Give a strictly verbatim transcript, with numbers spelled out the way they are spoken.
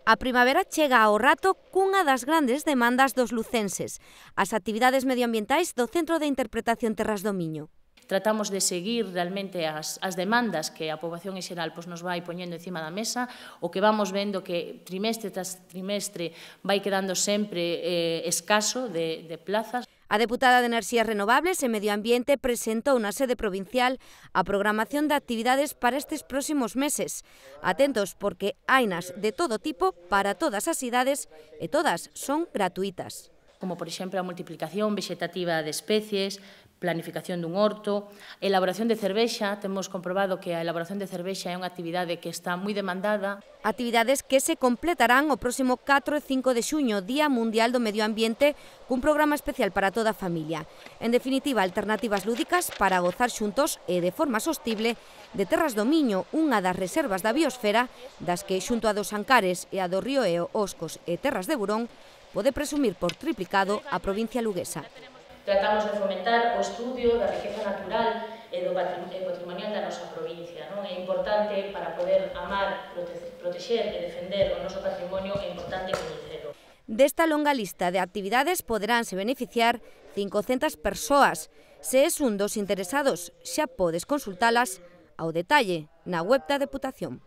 A primavera chega ao rato cunha das grandes demandas dos lucenses, as actividades medioambientais do Centro de Interpretación Terras do Miño. Tratamos de seguir realmente as, as demandas que a poboación en xeral pois, nos vai poñendo encima da mesa, o que vamos vendo que trimestre tras trimestre vai quedando sempre eh, escaso de, de plazas. A deputada de Enerxías Renovables e Medio Ambiente presentou na sede provincial a programación de actividades para estes próximos meses. Atentos porque hainas de todo tipo para todas as idades e todas son gratuitas. Como, por exemplo, a multiplicación vegetativa de especies, planificación dun horto, elaboración de cervexa. Temos comprobado que a elaboración de cervexa é unha actividade que está moi demandada. Actividades que se completarán o próximo catro e cinco de xuño, Día Mundial do Medio Ambiente, cun programa especial para toda a familia. En definitiva, alternativas lúdicas para gozar xuntos e de forma sostible de Terras do Miño, unha das reservas da biosfera, das que, xunto a dos Ancares e a do Río Eo, Oscos e Terras de Burón, pode presumir por triplicado a provincia luguesa. Tratamos de fomentar o estudio da riqueza natural e do patrimonial da nosa provincia. Non? É importante, para poder amar, protexer e defender o noso patrimonio, é importante coñecelo. Desta longa lista de actividades poderánse beneficiar cincocentas persoas. Se és un dos interesados, xa podes consultalas ao detalle na web da Deputación.